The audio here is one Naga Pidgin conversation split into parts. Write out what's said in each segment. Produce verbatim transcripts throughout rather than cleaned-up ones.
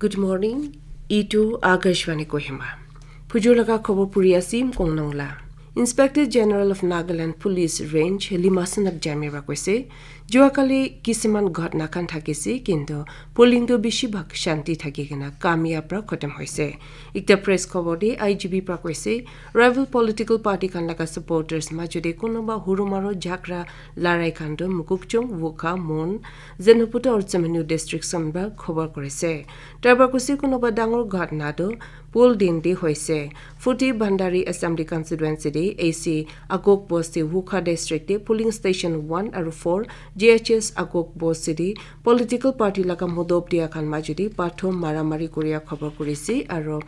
Good morning. Itu Akashvani Kohima. Phujur laga khobor puri asim kongnong la. Inspector General of Nagaland Police Range Limasan Abjami ra koise, juakali kisiman ghotna khan thakise, kintu polling tu bishi bhag shanti thaki kena kamyab ra khotom hoise. Ekta press khobor de I G P pra koise, rival political party khan laga supporters majode kunuba huru maro jhagra larai khan tu Mokokchung, Wokha, Mon, Zunheboto aru Tsemenyih district khan pra khobor korise. Tarpra koise kunuba dangor ghotna tu pol din de hoise. Futi Bhandari Assembly Constituency de A C Agok Bosti Wokha district de polling station one aru four G H S Agok Bosti de political party laga modop dia khan majudi pathor maramari kuria khobor kurise aru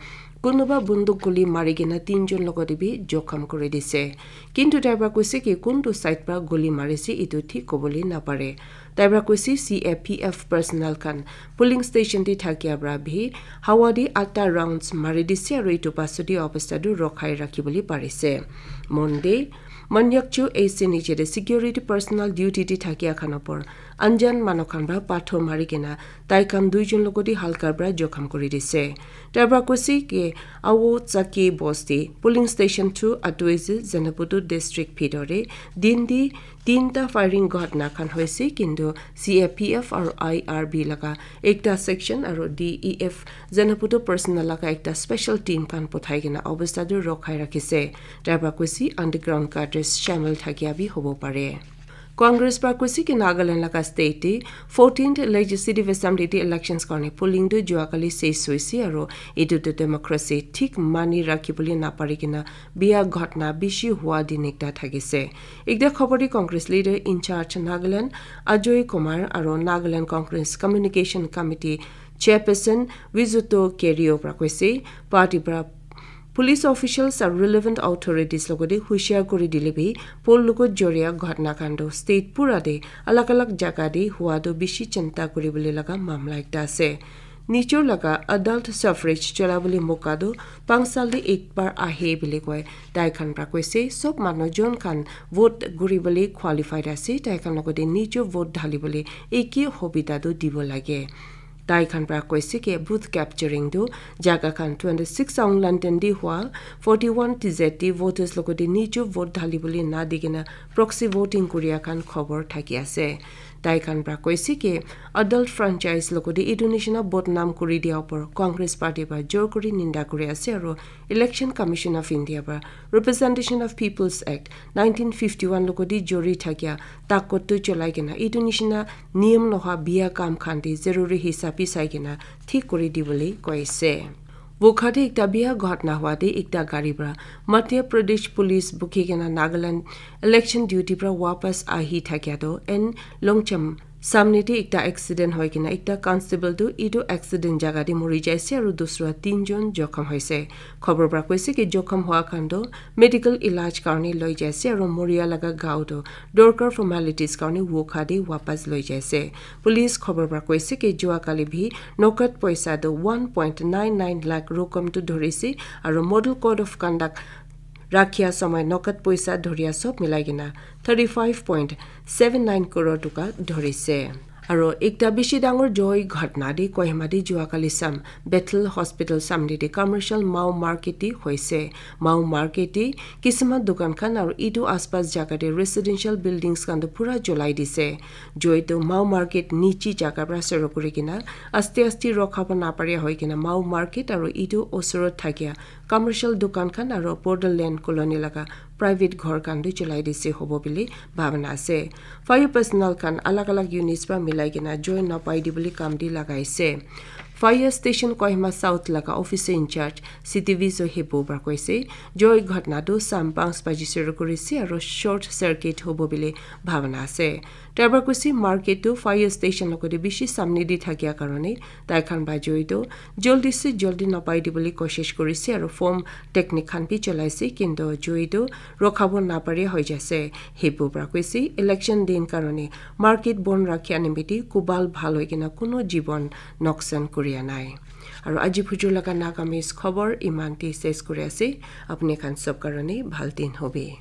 kunuba bunduk guli mari kena tinjon logote bi jokham kuri dise. Kintu tarpra koise ki kuntu side pra guli marise itu thik kobole napare. Tarpra koise C A P F personnel khan polling station te thakia pra bi hawa de atta rounds mari dise aru itu pasudi obostha tu rokhai rakhi bole parise. Mon de Manyakchu A C nije de security personnel duty te thakia khan opor anjan manu khan pra pathor mari kena tai khan duijon logote halka pra jokham kuri dise. Tarpra koise ki Awo Chaki Bosti polling station two Atuezi Zunheboto district bhitor de din de tinta firing ghotna khan hoise, kintu C A P F aru I R B laga ekta section aru D E F Zunheboto personnel laga ekta special team khan pothai kena obostha tu rokhai rakhise. Tarpra koise underground cadres shamil thakia bi hobo pare. Congress pra koise ki Nagaland laga state te fourteenth Legislative Assembly te elections karne polling tu juakali ses hoise aru itu tu democracy thik mani rakhi bole napari kena biya ghotna bishi hua din ekta thakise. Ekta khobor de Congress leader in charge Nagaland Ajoy Kumar aru Nagaland Congress Communication Committee chairperson Wizuto Kerio pra koise, party pra police officials aru relevant authorities logote hushiar kuri dile bi pol logot joria ghotna khan tu state pura de alag alag jaga de hua tu bishi chinta kuri bole laga mamla ekta ase. Nijor laga adult suffrage chola bole moka tu panch sal de ek bar ahe bole koi. Tai khan pra koise sob manu jon khan vote guri bole qualified ase, tai khan logote nijor vote dhali bole eke hobita tu dibo lage. Tai khan pra koise ki booth capturing tu jaga khan twenty six Aung London de hua, forty one T Z de voters logote nijor vote dhali bole na di kena proxy voting kuria khan khobor thaki ase. Tai khan pra koise ki adult franchise logote etu nishina bodnam kuri dia opor Congress party pra jor kuri ninda kuri ase aru Election Commission of India pra Representation of People's Act nineteen fifty one logote jori thakia takot tu cholai kena etu nishina niyam noha biya kam khan de zaruri hisabi sai kena thik kuri dibole koise. Wokha de ekta biya ghotna hua de ekta gari pra Madhya Pradesh Police bukhi kena Nagaland election duty pra wapas ahi thakia tu N Longcham samne de ekta accident hoi kena ekta constable tu itu accident jaga de mori jaise aru dusra tinjon jokham hoise. Khobor pra koise ki jokham hua khan tu medical ilaj karne loi jaise aru moria laga gao tu dorkar formalities karne Wokha de wapas loi jaise. Police khobor pra koise ki jua kali bi nokat poisa tu one point nine nine lakh rokom tu dhorise aru model code of conduct rakhia samay nokat poisa dhoria sob milai kena thirty five point seven nine crore toka dhorise. Aro ekta bishi dangor joy ghatna de Kohima de jua kali sam Bethel Hospital samne de commercial Mao market de hoise. Mao market de kisima dukan khan aro etu aspas jaga de residential buildings khan toh pura cholai dise. Joy toh Mao market niche jaga pra suru kuri kena aste aste rokhabo naparia hoi kena Mao market aro etu osorot thakia commercial dukan khan aro borderland colony laga private ghor khan bi cholai dise hobo bili bhabana ase. Fire personnel khan alag alag units pra milai kena joy napai di bili kam de lagaise. Fire station Kohima South laga officer in charge C T V Zohibu pra koise, joy ghatna tu sam panch baji suru kurise aro short circuit hobo bili bhabana ase. Tarpra koise market tu fire station logote bishi samne de thakia karone tai khan ba joy tu joldi se joldi napai dibole koshish kurise aro foam technique khan bi cholaise, kintu joy tu rokhabo napare hoi jaise. Hibu pra koise election din karone market bon rakhia nimite kubal bhal hoi kena kuno jibon noksan kuria nai. Aro aji phujur laga Nagamese khobor iman te ses kuri ase. Apni khan sob karone bhal din hobe.